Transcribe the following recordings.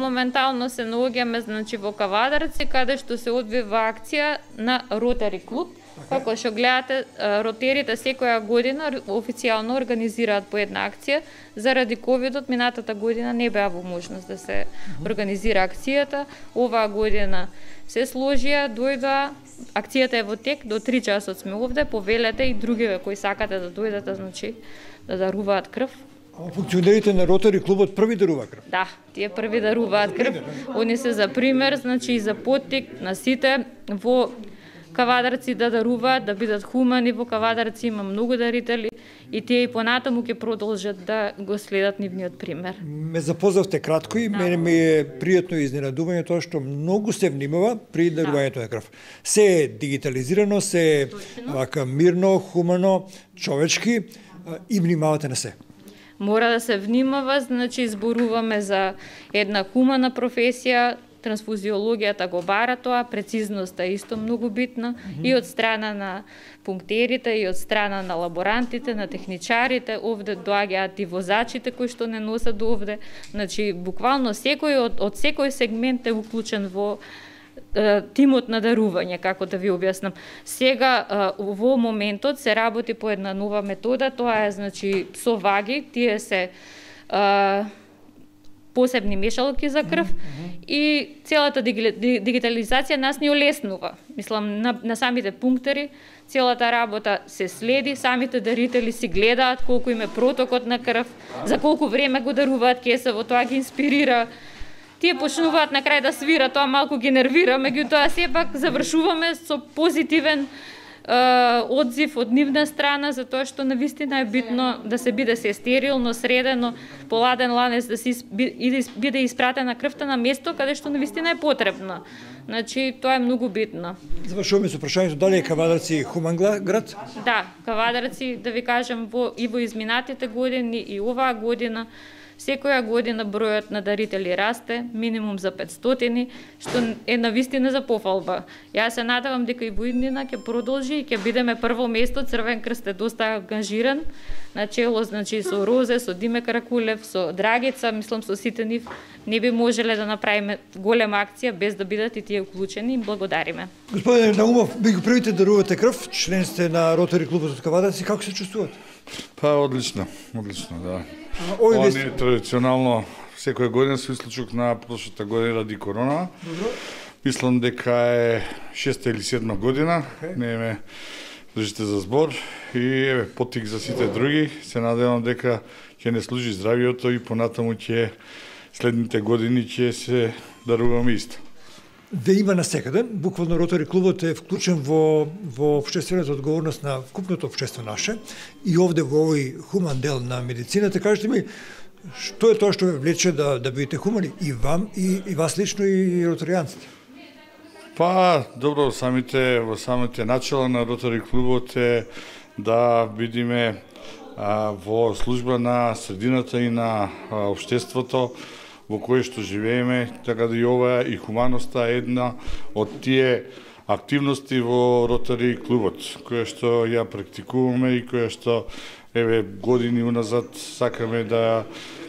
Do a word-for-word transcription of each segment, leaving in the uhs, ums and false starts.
Моментално се наоѓаме значи во Кавадарци, каде што се одвива акција на Ротари клуб. Како што гледате, ротерите секоја година официјално организираат по една акција. Заради ковидот минатата година не беа во можност да се организира акцијата. Оваа година се сложија, дојдоа, акцијата е во тек, до три часот сме овде, повелете и другиве кои сакате да дојдете, значи да даруваат крв. А функционерите на Ротари клубот први даруваат крв? Да, тие први даруваат крв. Они се за пример, значи и за поттик на сите во Кавадарци да даруваат, да бидат хумани. Во Кавадарци има многу дарители и тие и понатаму ќе продолжат да го следат нивниот пример. Ме запознавте кратко и да. Мене ми е пријатно изненадување тоа што многу се внимава при дарувањето на крв. Се е дигитализирано, се е вака мирно, хумано, човечки и внимавате на се. Мора да се внимава, значи зборуваме за една хумана професија. Трансфузиологијата го бара тоа, прецизноста е исто многу битна mm -hmm. и од страна на пунктерите, и од страна на лаборантите, на техничарите, овде доаѓаат и возачите кои што не носат до овде. Значи, буквално секој од, од секој сегмент е уклучен во е, тимот на дарување, како да ви објаснам. Сега, е, во моментот се работи по една нова метода, тоа е, значи, со ваги, тие се е, посебни мешалки за крв mm -hmm. и целата дигитализација нас ни олеснува. Мислам, на, на самите пунктери, целата работа се следи, самите дарители си гледаат колку им е протокот на крв, за колку време го даруваат кесаво, тоа ги инспирира. Тие почнуваат на крај да свират, тоа малку ги нервира, меѓутоа сепак завршуваме со позитивен одзив од нивна страна, затоа што навистина е битно да се биде се стерилно, средено, поладен ланец, да се биде испратена крвта на место каде што навистина е потребно. Значи, тоа е многу битно. Завршуваме со прашањето дали е Кавадарци хуман град? Да, Кавадарци, да ви кажам, во, и во изминатите години и оваа година, секоја година бројот на дарители расте, минимум за петстотини, што е навистина за пофалба. Јас се надевам дека и во иднина ќе продолжи и ќе бидеме прво место. Црвен крст е доста ангажиран, на чело, значи, со Розе, со Диме Каракулев, со Драгица, мислам со сите нив, не би можеле да направиме голема акција без да бидат и тие уклучени. Благодариме. Господине Наумов, би го првите дарувате крв, член сте на Ротари клубот од Кавадарци, како се чувствувате? Па, одлично, одлично, да. Ова не е традиционално секоја година со исклучок на прошлата година ради корона. Добро. Мислам дека е шеста или седма година, okay. Не ме држите за збор и еве поттик за сите други. Се надевам дека ќе не служи здравието и понатаму ќе следните години ќе се даруваме исто. Ве има насекаде, буквално Ротари клубот е вклучен во, во општествената одговорност на вкупното општество наше и овде во овој хуман дел на медицината. Кажете ми, што е тоа што ве влече да, да бидете хумани и вам, и, и вас лично, и ротаријанците? Па, добро, самите, во самите начала на Ротари клубот е да бидиме а, во служба на средината и на а, општеството во кое што живееме, така да и ова и хуманоста е една од тие активности во Ротари клубот, која што ја практикуваме и која што еве години уназад сакаме да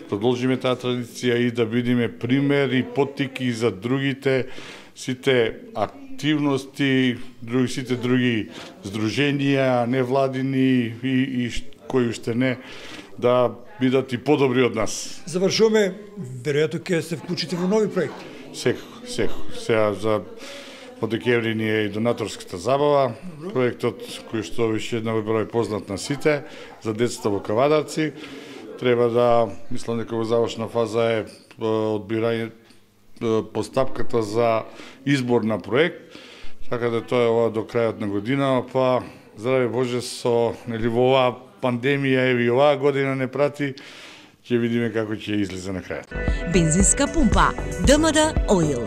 продолжиме таа традиција и да бидеме пример и поттик и за другите сите активности, други сите други здруженија, невладини и, и кои уште не, да бидат и подобри од нас. Завршуваме, веројатно ќе се вклучите во нови проекти. Секако, секако. Сега за од декември ни е и донаторската забава, проектот кој што више една број познат на сите за децата во Кавадарци. Треба да, мислам дека во завршна фаза е одбирање постапката за избор на проект, така да тоа е ова до крајот на година, па здраве Боже со нели во оваа пандемија еви оваа година не прати, ќе видиме како ќе излезе на крајот. Бензинска пумпа ДМД Oil.